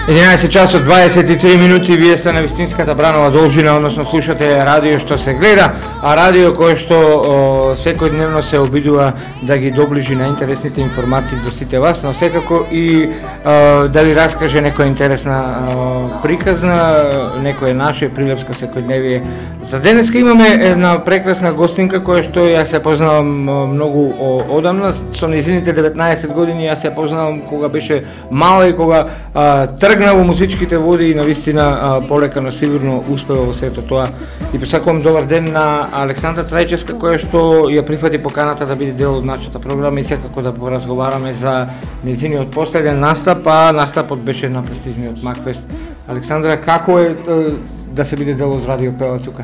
11 часот 23 минути, вие сте на вистинската Бранова должина, односно слушате радио што се гледа, а радио кое што секојдневно се обидува да ги доближи на интересните информации до сите вас, но секако и да ви раскаже некоја интересна приказна, некоја наше прилепско секојдневие. За денеска имаме една прекрасна гостинка која што јас се познавам многу одамна, со незините 19 години јас се познавам кога беше мала и кога тргна во музичките води и навистина полека, но сигурно успева во сето тоа. И посакувам добар ден на Александра Трајчевска, која што ја прифати поканата да биде дел од нашата програма и секако да поразговараме за незиниот последен настап, а настапот беше на престижниот Макфест. Александра, како е да се биде дел од Радио Пела тука?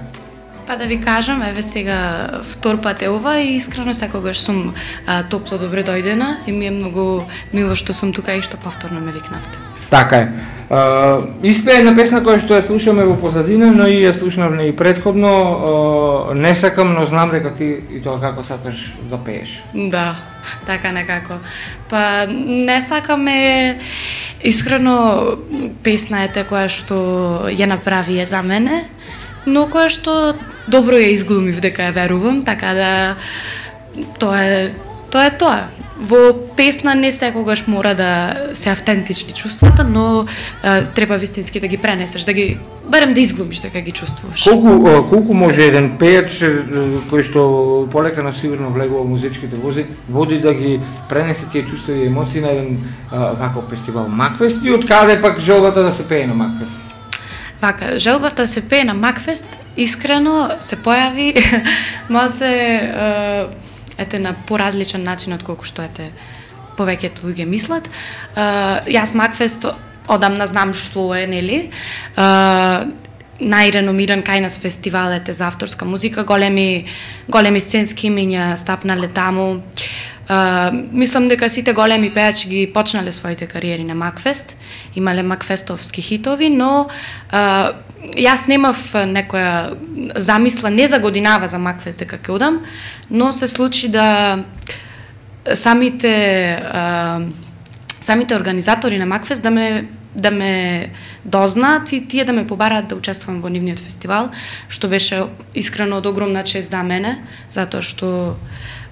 Па да ви кажам, еве сега втор пат е ова и искрено секогаш сум топло добре дојдена и ми е многу мило што сум тука и што повторно ме викнавте. Така е. Испеа една песна која што ја слушаме во позадина, но и ја слушнавме и претходно. Не сакам, но знам дека ти и тоа како сакаш да пееш. Да, така некако. Па не сакаме, искрено песна е те која што ја направи за мене, но која што добро ја изглумив дека ја верувам, така да тоа е тоа. Во песна не секогаш мора да се автентични чувствата, но треба вистински да ги пренесеш, да ги барем да изглумиш дека ги чувствуваш. Колку може еден пејач кој што полека на сигурно влегува во музичките води да ги пренесе тие чувства и емоции на еден ваков фестивал Макфест и од каде пак желбата да се пее на Макфест? Вака, желбата да се пее на Макфест искрено се појави малце на поразличен начин од колку што повеќето луѓе мислат. Јас Макфест одамна знам што е, нели? Најреномиран кај нас фестивал за авторска музика, големи сценски имиња стапнале таму. Мислам дека сите големи пејачи ги почнале своите кариери на Макфест, имале макфестовски хитови, но јас немав некоја замисла, не за годинава за Макфест дека ќе одам, но се случи да самите организатори на Макфест да ме дознаат и тие да ме побараат да учествувам во нивниот фестивал, што беше искрено од огромна чест за мене, затоа што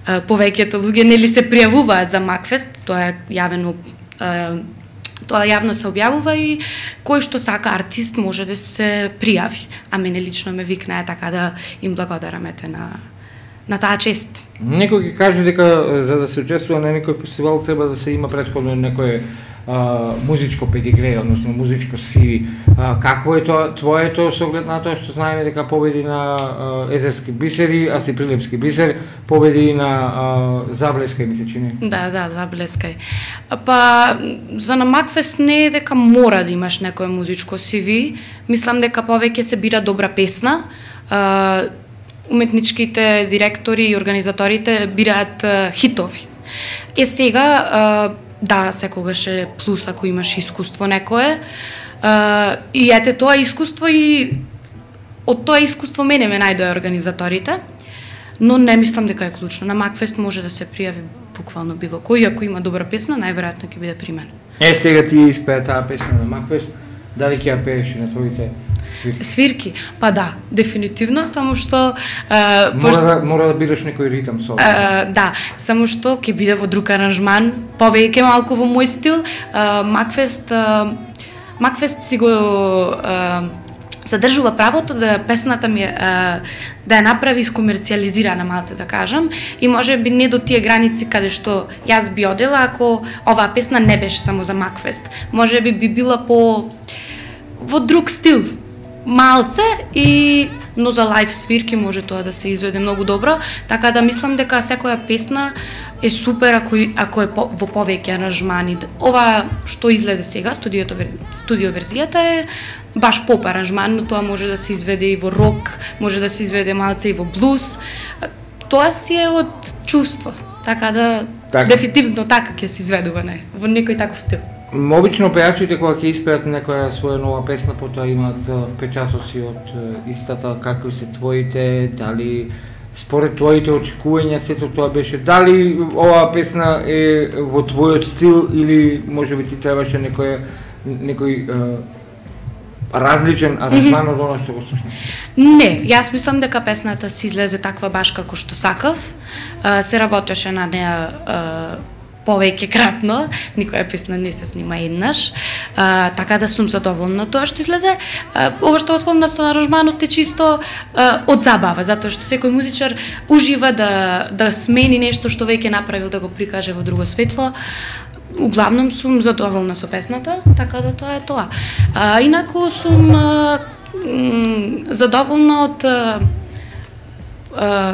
повеќето луѓе нели се пријавуваат за Макфест, тоа е јавно се објавува и кој што сака артист може да се пријави. А мене лично ме викнаа, така да им благодарам на таа чест. Некој ќе каже дека за да се учествува на некој фестивал треба да се има претходно некој музичко педигре, односно музичко CV. Какво е тоа твоето со оглед на тоа што знаеме дека победи на Езерски бисери, а си Прилепски бисер, победи на Заблескај, ми се чини. Да, Заблескај. Па за на Макфест не е дека мора да имаш некое музичко CV. Мислам дека повеќе се бира добра песна. Уметничките директори и организаторите бираат хитови. Сега да, секогаш е плюс ако имаш искуство некое. И ете тоа искуство и од тоа искуство мене ме најдоа организаторите, но не мислам дека е клучно. На Макфест може да се пријави буквално било кој, ако има добра песна, најверојатно ќе биде при мене. Сега ти испеа таа песна на Макфест, дали ќе ја пееш на твоите свирки? Па да, дефинитивно, само што мора да бидеш некој ритам со. Да, само што ќе биде во друг аранжман, повеќе малку во мој стил. Макфест си го задржува правото да песната ми да ја направи искомерцијализирана малце, да кажам, и може би не до тие граници каде што јас би одела ако оваа песна не беше само за Макфест. Може би била во друг стил, малце, но за лайв свирки може тоа да се изведе многу добро, така да мислам дека секоја песна е супер ако е во повеќе аранжмани. Ова што излезе сега, студио верзијата е баш поп аранжман, но тоа може да се изведе и во рок, може да се изведе малце и во блуз. Тоа си е од чувство, така да дефинитивно така ќе се изведува во некој таков стил. Обично пејачите кога ќе испеат некоја своја нова песна, потоа имаат впечатоци од истата, какви се твоите, дали според твоите очекувања сето тоа беше, дали оваа песна е во твојот стил или можеби ти требаше некоја некој различен аранжман од оно што го слушнав? Не, јас мислам дека песната си излезе таква баш како што сакав. Се работеше на неа повеќе кратно, никоја песна не се снима еднаш, така да сум задоволна тоа што излезе. Ова што го спомна со аранжманот е чисто од забава, затоа што секој музичар ужива да смени нешто што веќе направил, да го прикаже во друго светло. Углавном сум задоволна со песната, така да тоа е тоа. Инаку сум задоволна од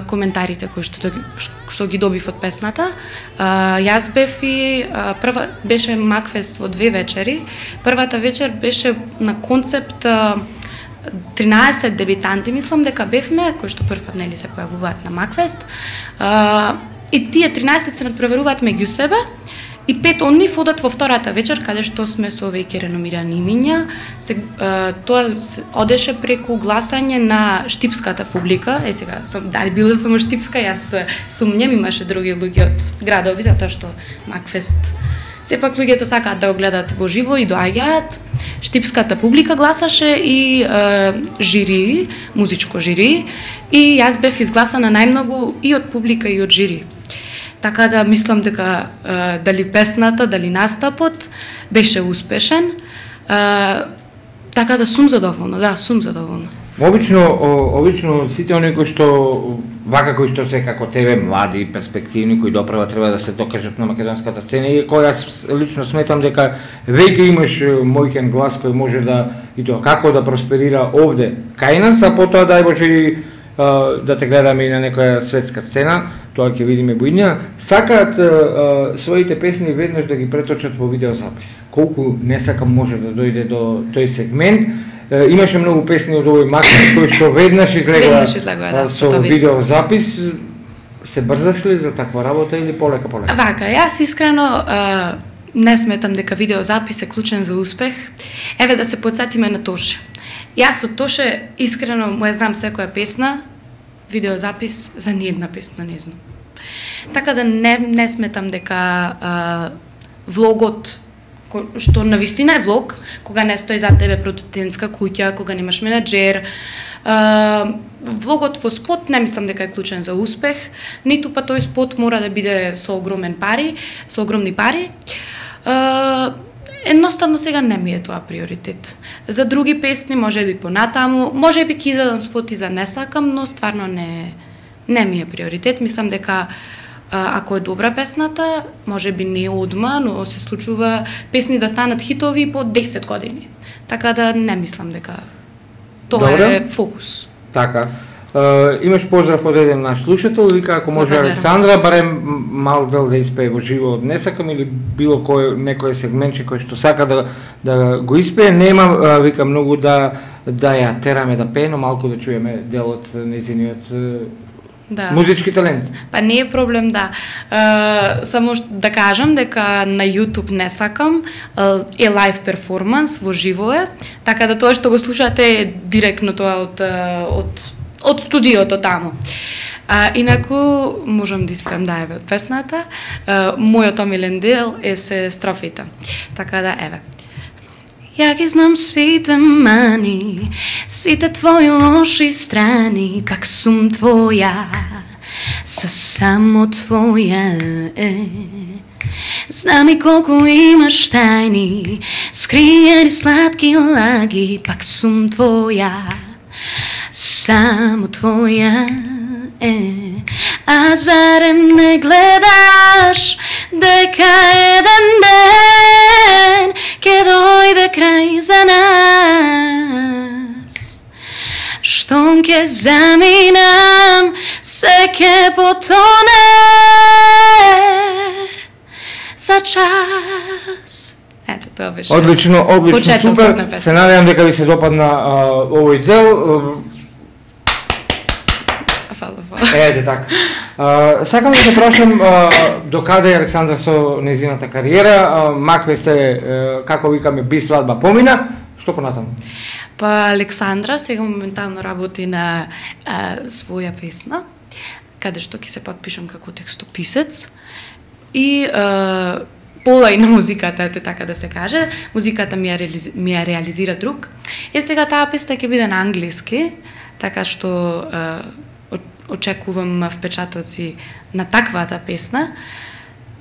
коментарите кои што ги добив од песната. Јас бев и прва беше Макфест во 2 вечери. Првата вечер беше на концепт 13 дебитанти, мислам дека бевме, кои што прв пат нели се појавуваат на Макфест. И тие 13 се надпреваруваат меѓу себе. И 5 од нив одат во втората вечер, каде што сме со веќе реномирани имиња. Тоа одеше преку гласање на штипската публика. Сега, дали била само штипска, јас сумњам, имаше други луѓе од градови, затоа што Макфест сепак луѓето сакаат да го гледат во живо и доаѓаат. Штипската публика гласаше и жири, музичко жири, и јас бев изгласана најмногу и од публика и од жири. Така да мислам дека дали песната, дали настапот беше успешен. Така да сум задоволна, сум задоволна. Обично сите оние кои што вака кои што се како тебе млади, перспективни, кои допрева треба да се докажат на македонската сцена, и кој јас лично сметам дека веќе имаш мојкен глас кој може да и тоа како да просперира овде кај нас, а потоа дај Боже и да те гледаме и на некоја светска сцена, тоа ќе видиме буиднија. Сакаат своите песни веднаш да ги преточат во видеозапис. Колку не сакам може да дојде до тој сегмент. Имаше многу песни од овој Макфест кои што веднаш излегуваат со видеозапис. Се брзаш ли за таква работа или полека? Вака, јас искрено не сметам дека видеозапис е клучен за успех. Еве да се потсетиме на Тоше. Јас од Тоше искрено му ја знам секоја песна, видеозапис за ниедна песна не знам. Така да не сметам дека влогот, што навистина е влог, кога не стои за тебе продуцентска куќа, кога немаш менаџер, влогот во спот не мислам дека е клучен за успех, ниту па тој спот мора да биде со огромни пари. Едноставно сега не ми е тоа приоритет. За други песни може би понатаму, може би ќе изведам спот и за не сакам, но стварно не ми е приоритет. Мислам дека ако е добра песната, може би не одма, но се случува песни да станат хитови по 10 години. Така да не мислам дека тоа е фокус. Така. Имаш поздрав од еден наш слушател, вика ако може Александра барем мал дел да испее во живо од Не сакам или било некој сегментче кој што сака да го испее, нема вика многу да ја тераме да пее, но малку да чуеме дел од нејзиниот музички талент. Па не е проблем, само да кажам дека на YouTube Не сакам е лайв перформанс, во живо е, така да тоа што го слушате е директно тоа од студиото таму. Инаку можам да испеам еве од песната. Мојот омилен дел е се строфите. Така да еве. Ја ги знам сите мани, сите твои лоши страни, пак сум твоја, само твоја Знам и колку имаш тајни, скриени сладки лаги, пак сум твоја, само твоја А зарем не гледаш дека еден ден ке дојде крај за нас? Штом ке заминам, се ке потоне за час. Ето, тоа беше. Одлично, супер. Се надевам дека ви се допадна овој дел. Ете така. Сакам да те прашам до каде Александра со нејзината кариера, Макфест се, како викаме, би свадба помина, што понатаму? Па Александра сега моментално работи на своја песна, каде што ќе се подпишам како текстописец и пола и на музиката, ете така да се каже. Музиката ми ја реализира друг. Сега таа песна ќе биде на англиски, така што очекувам впечатоци на таквата песна.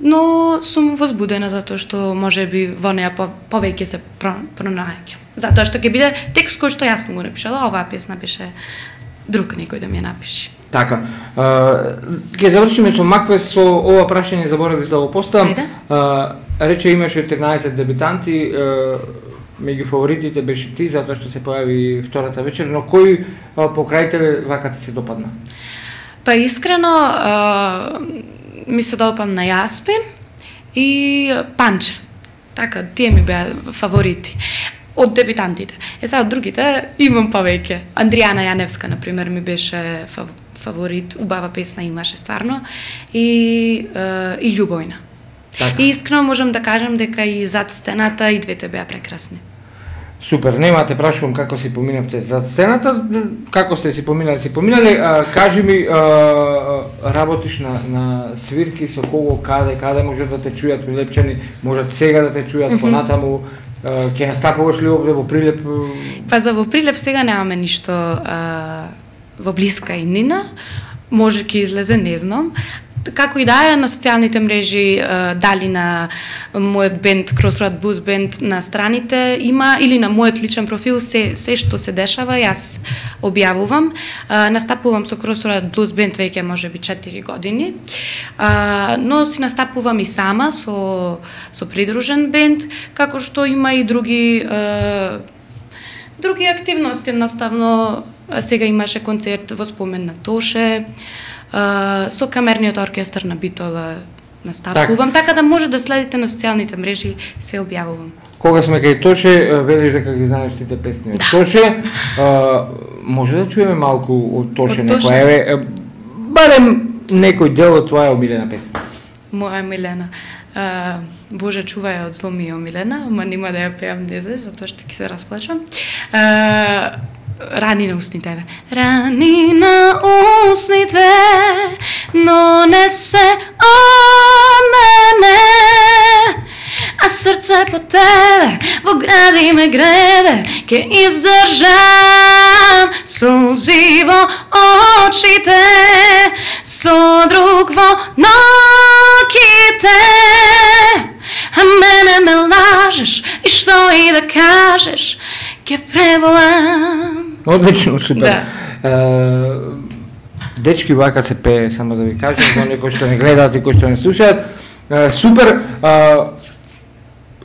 Но сум возбудена затоа што можеби во неја повеќе се пронајќам. Затоа што ќе биде текст кој што јас сум го напишала, оваа песна беше друг некој да ми ја напише. Така. Ќе завршиме со Макфест, со ова прашање заборавив да го поставам. Рече имаше 13 дебютанти, меѓу фаворитите беше ти, затоа што се појави втората вечер, но кој покрај тебе вака ти се допадна? Па искрено ми се допадна Јаспин и Панче. Така, тие ми беа фаворити од дебютантите. Сега од другите имам повеќе. Андријана Јаневска, например, ми беше фаворит, убава песна имаше стварно, и Љубојна. Така. И искрено можам да кажам дека и зад сцената и двете беа прекрасни. Супер, нема те прашувам како си поминавте зад сцената, како сте си поминали, кажи ми, работиш на свирки, со кого, каде можат да те чујат Прилепчани, можат сега да те чујат понатаму, ќе настапуваш ли овде во Прилеп? Па за во Прилеп сега немаме ништо во блиска и нина, може ќе излезе, не знам. Како и да е, на социјалните мрежи, дали на мојот бенд Crossroad Blues Band на страните има, или на мојот личен профил, се што се дешава, јас објавувам. Настапувам со Crossroad Blues Band веќе можеби 4 години, но си настапувам и сама со придружен бенд, како што има и други активности. Наставно сега имаше концерт во спомен на Тоше, со камерниот оркестар на Битола настапувам, така да може да следите на социјалните мрежи, се објавувам. Кога сме кај Тоше, велиш дека ги знаеш тите песни од Тоше, може да чуеме малку од Тоше некоја, барем некој дел од твоја омилена песна? Моја омилена? Боже, чувај од зло ми е омилена, ама нема да ја пеам дезе, затоа што ќе се расплачам. Рани на устните. Рани на устните, но не се од мене, а срце по тебе во гради ме гребе, ке издржам сулзи во очите, со друг во ноките, а мене ме лажеш и што и да кажеш, ке преболам. Одлично, супер. Дечки, вака се пее, само да ви кажем, за некои што не гледаат и кои што не слушаат. Супер.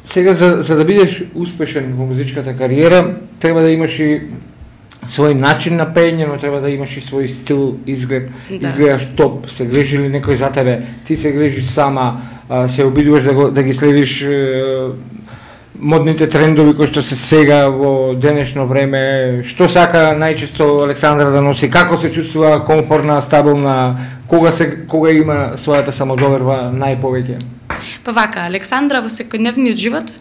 Сега, за да бидеш успешен во музичката кариера, треба да имаш и свој начин на пеење, но треба да имаш и свој стил, изглед. Изгледаш топ, се грижи ли некој за тебе, ти се грижиш сама, се обидуваш да ги следиш модните трендови кои што се сега во денешно време, што сака најчесто Александра да носи, како се чувствува комфортна, стабилна, кога има својата самодоверба најповеќе? Па вака, Александра во секојдневниот живот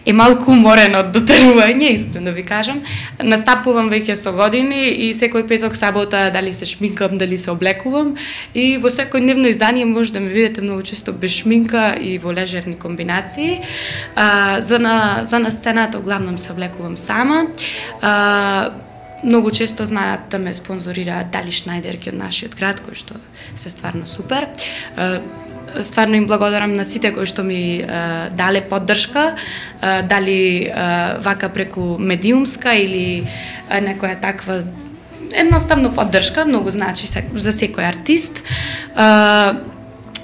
е малку уморена од дотерување, искрено ви кажам. Настапувам веќе со години и секој петок, сабота, дали се шминкам, дали се облекувам, и во секојдневно издание може да ме видите многу често без шминка и во лежерни комбинации. За на сцената главном се облекувам сама. Многу често знаат да ме спонзорираат Дали Шнајдерки од нашиот град, кој што се стварно супер. Стварно им благодарам на сите кои што ми дале поддршка, дали вака преку медиумска или некоја таква, едноставно поддршка, многу значи за секој артист.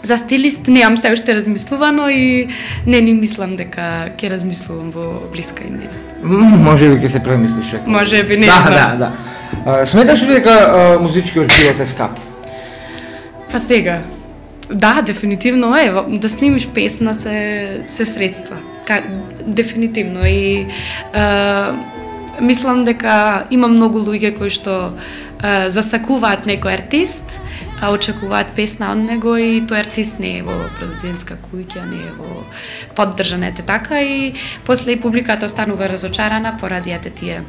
За стилист немам се уште размислувано и не ни мислам дека ќе размислувам во блиска иднина. Може би ќе се премислиш. Може би, не знам. Да. Сметаш ли дека музичкиот живот е скап? Па сега, да, дефинитивно е. Да снимиш песна се средства. Дефинитивно. И мислам дека има многу луѓе кои што засакуваат некој артист, очекуваат песна од него и тој артист не е во продуцентска куќа, не е во поддржанете така, и после и публиката останува разочарана поради тие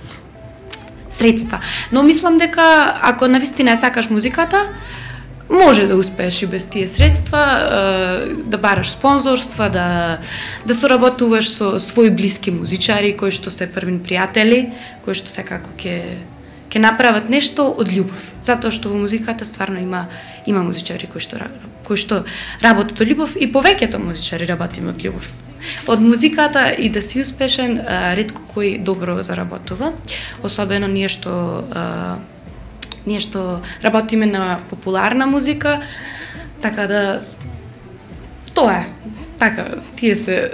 средства. Но мислам дека ако навистина сакаш музиката, може да успееш и без тие средства, да бараш спонзорства, да соработуваш со своји блиски музичари кои што се првин пријатели, кои што секако ќе направат нешто од љубов. Затоа што во музиката стварно има музичари кои што работат од љубов и повеќето музичари работиме од љубов. Од музиката и да си успешен, ретко кој добро заработува, особено ние што работиме на популарна музика, така да тоа е. Така, тие се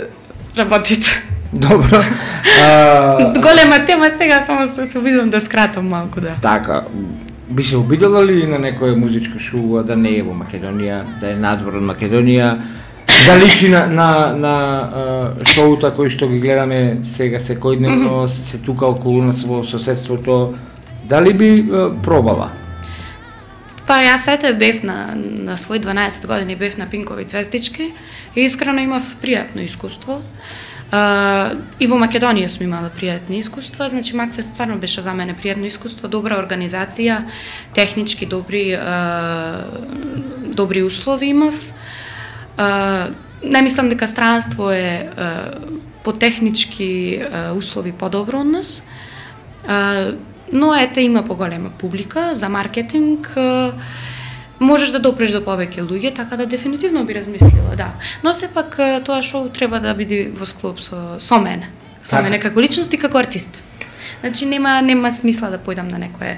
работите. Добро. Голема тема сега, само се обидам да скратам малку, да. Така, би се обидела ли на некоја музичка шоу да не е во Македонија, да е надвор од Македонија, да личи на шоута кои што ги гледаме сега секојдневно, се тука околу нас во соседството, дали би пробала? Па јас сете бев на свој 12 години бев на Пинкови звездички и искрено имав пријатно искуство. И во Македонија сум имала пријатни искуства, значи Макфест стварно беше за мене пријатно искуство, добра организација, технички добри услови имав. Не мислам дека странство е по технички услови подобро од нас. Но ете има поголема публика за маркетинг, можеш да допреш до повеќе луѓе, така да дефинитивно би размислила, да. Но сепак тоа шоу треба да биде во склоп со мене. Со мене како личност и како артист. Значи нема смисла да појдам на некое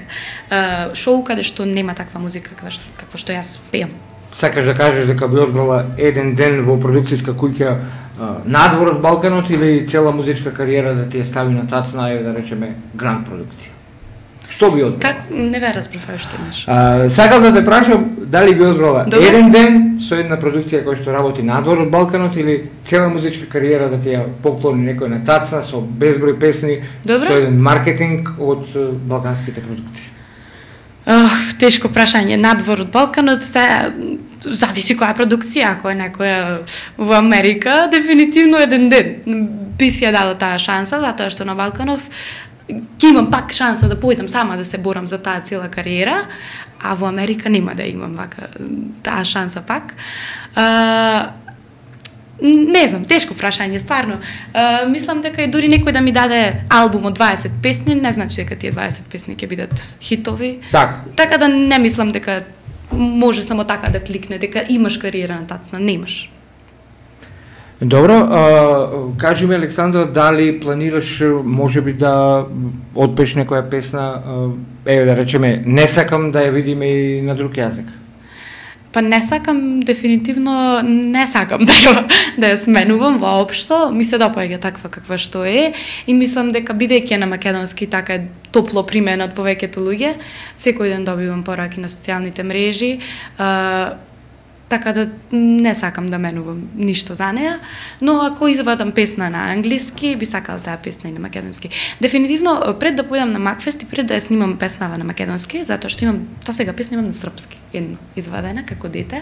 шоу каде што нема таква музика каква што јас пеам. Сакаш да кажеш дека би одбрала еден ден во продукцијска куќа надвор од Балканот или цела музичка кариера да ти ја стави на тацна и да речеме гранд продукција? Што би одбрала? Как не ве разбрав што имаш. Сакам да те прашам дали би одбрала еден ден со една продукција која што работи надвор од Балканот или цела музичка кариера да ти ја поклони некој на тацна со безброј песни, со еден маркетинг од балканските продукции? Тешко прашање. Надвор од Балканот зависи која продукција, ако е некоја во Америка, дефинитивно еден ден би си ја дала таа шанса, затоа што на Балканов ќе имам пак шанса да појдам сама да се борам за таа цела кариера, а во Америка нема да имам вака таа шанса пак. Не знам, тешко прашање, стварно. Мислам дека и дури некој да ми даде албум од 20 песни, не значи дека тие 20 песни ќе бидат хитови. Така да не мислам дека може само така да кликне, дека имаш кариера на тацна, немаш. Добро, кажи ми, Александра, дали планираш можеби да отпееш некоја песна, да речеме, не сакам да ја видиме и на друг јазик? Па не сакам, дефинитивно не сакам да ја сменувам воопшто, ми се допаѓа таква каква што е и мислам дека бидејќи на македонски така е топло примена од повеќето луѓе, секој ден добивам пораки на социјалните мрежи, така да не сакам да менувам ништо за неа, но ако извадам песна на англиски, би сакала таа песна и на македонски. Дефинитивно, пред да појдам на Макфест и пред да ја снимам песнава на македонски, затоа што имам, сега песна имам на српски, едно извадена како дете,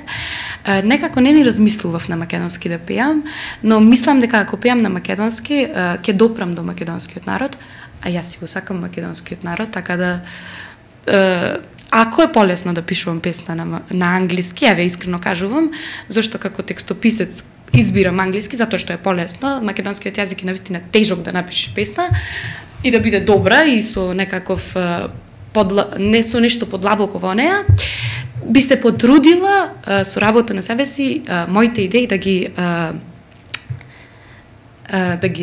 некако не ни размислував на македонски да пеам, но мислам дека ако пеам на македонски, ќе допрам до македонскиот народ, а јас си го сакам македонскиот народ, така да ако е полесно да пишувам песна на англиски, ја ве искрено кажувам, зашто како текстописец избирам англиски, затоа што е полесно, македонскиот јазик е навистина тежок да напишеш песна и да биде добра и со некаков не со нешто подлабоко во неа, би се потрудила со работа на себе си моите идеи да ги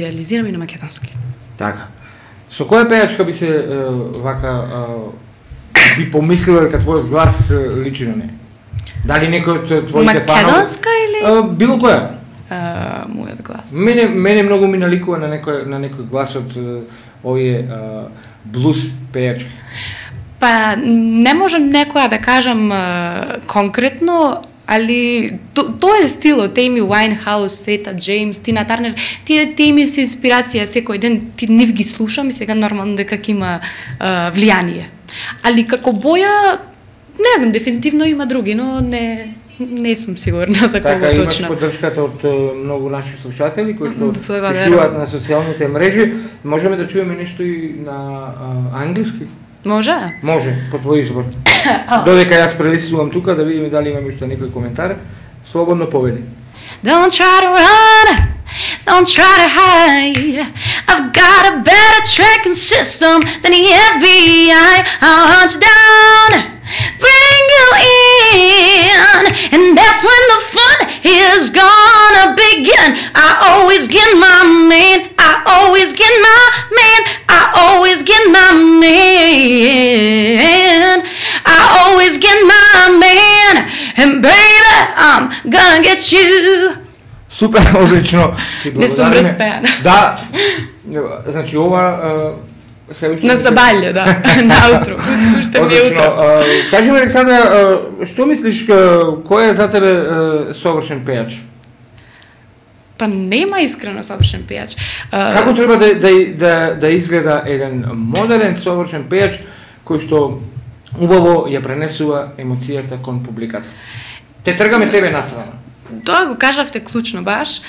реализирам и на македонски. Така. Со која пејачка би се вака би помислила дека твојот глас личи на неја? Дали некој од твоите фанови? Македонска или? Било која? Мојот глас. Мене многу ми наликува на некој глас од овие блуз пејачки. Па не можам некоја да кажам конкретно, али тоа е стилот, Amy Winehouse, Etta James, Tina Turner, тие ми се инспирација секој ден, нив ги слушам и сега нормално дека ќе има влијание. Али како боја, не знам, дефинитивно има други, но не сум сигурна за кого така, точно. Така, имаш поддршката од многу наши слушатели кои што пишуваат на социјалните мрежи. Можеме да чуеме нешто и на англиски? Може? Може, по твој избор. Додека јас прелистувам тука да видиме дали имаме уште некој коментар. Слободно повели. Don't try to run, don't try to hide. I've got a better tracking system than the FBI. I'll hunt you down, bring you in, and that's when the fun is gonna begin. I always get my man, I always get my man, I always get my man, I always get my man, and baby, I'm gonna get you. Супер, одлично. Не сум распеана. Да. Значи ова се уште на сабаље, да, наутро. Уште ми е утро. Кажи ми, Александра, што мислиш, кој е за тебе совршен пејач? Па нема искрено совршен пејач. Како треба да изгледа еден модерен совршен пејач кој што убаво ја пренесува емоцијата кон публиката? Те тргаме тебе настрана. Тоа го кажавте клучно баш.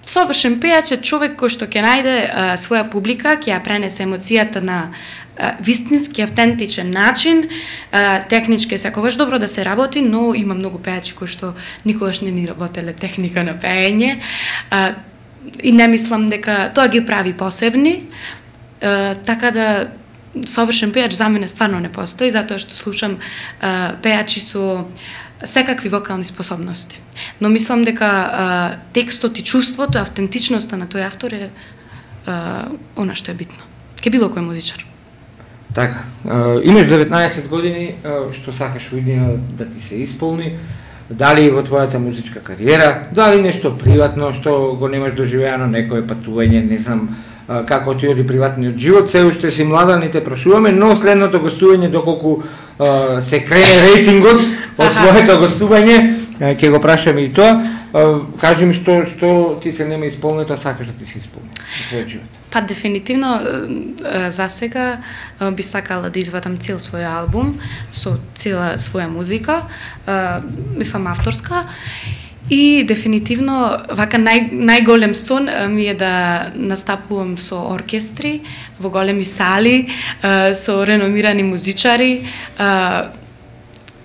Совршен пејач е човек кој што ќе најде своја публика, ќе ја пренесе емоцијата на вистински, автентичен начин. Технички е секогаш добро да се работи, но има многу пејачи кои што никогаш не ни работеле техника на пеење. И не мислам дека тоа ги прави посебни. Така да совршен пејач за мене стварно не постои, затоа што слушам пејачи со секакви вокални способности. Но мислам дека текстот и чувството, автентичноста на тој автор е она што е битно. Ке било кој музичар. Така, имаш 19 години, што сакаш во иднина да ти се исполни, дали во твојата музичка кариера, дали нешто приватно што го немаш доживеано, некое патување, не знам како ти оди приватниот живот, се уште си млада, не те прашуваме, но следното гостување, доколку се крене рейтингот од твоето гостување, ќе го прашаме и тоа. Кажи ми што ти се нема исполнето, а сакаш да ти се исполни во твојот живот? Па дефинитивно за сега би сакала да извадам цел свој албум со цела своја музика, мислам авторска. И дефинитивно вака најголем сон ми е да настапувам со оркестри во големи сали, со реномирани музичари.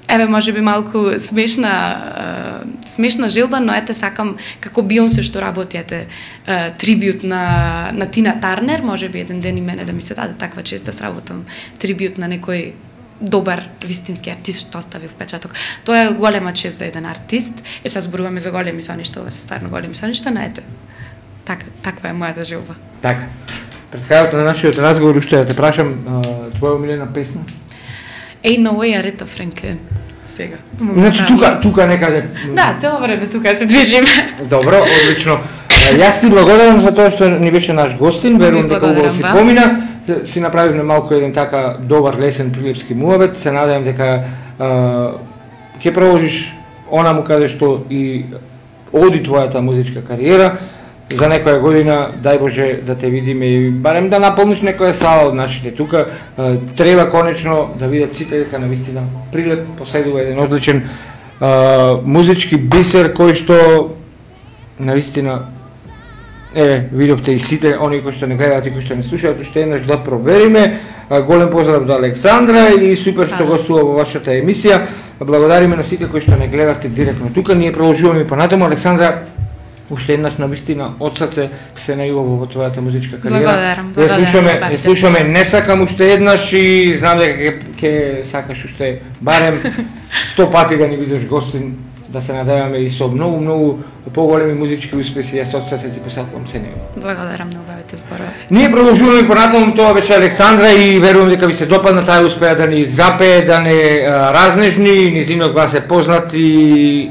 Еве може би малку смешна желба, но ете сакам како Бионсе што работи трибют на Тина Тарнер, може би еден ден и мене да ми се даде таква чест да сработам трибют на некој добар вистински артист што остави впечаток. Тоа е голема чест за еден артист. Сега зборуваме за големи соништа, ова се стварно големи соништа, но ете, таква е мојата желба. Така. Пред крајот на нашиот разговор уште да те прашам, твоја омилена песна? Ain't No Way, Арета Франклин. Сега. Значи тука некаде. Да, цело време тука се движиме. Добро, одлично. Јас ти благодарам за тоа што ни беше наш гостин, верувам дека убаво си помина. Си направивме малку еден така добар лесен прилепски муабет. Се надевам дека ќе продолжиш онаму каде што и оди твојата музичка кариера. За некоја година, дај Боже да те видиме и барем да наполниш некоја сала од нашите тука. Треба конечно да видат сите дека навистина Прилеп поседува еден одличен музички бисер кој што навистина видовте и сите они кои што не гледаат и кои што не слушаат, уште еднаш да провериме. Голем поздрав до Александра и супер што гостува во вашата емисија. Благодариме на сите кои што не гледате директно тука. Ние продолжуваме понатаму. Александра, уште еднаш навистина од срце се најубаво во твојата музичка кариера. Благодарам. Не слушаме, не сакам уште еднаш и знам дека ќе сакаш уште барем 100 пати да ни бидеш гостин, да се надеваме и со многу поголеми музички успеси. Јас од срце ти посакувам се него. Благодарам на убавите зборови. Ние продолжуваме понатаму, тоа беше Александра и верувам дека ви се допадна, таа успеа да ни запее, да не разнежни, низиниот глас е познат и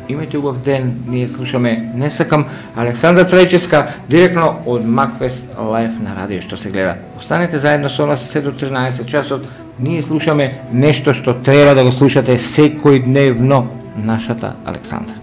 имајте убав ден. Ние слушаме Не сакам, Александра Трајчевска, директно од Макфест лайв на радио што се гледа. Останете заедно со нас се до 13 часот. Ние слушаме нешто што треба да го слушате секој дневно, нашата Александра.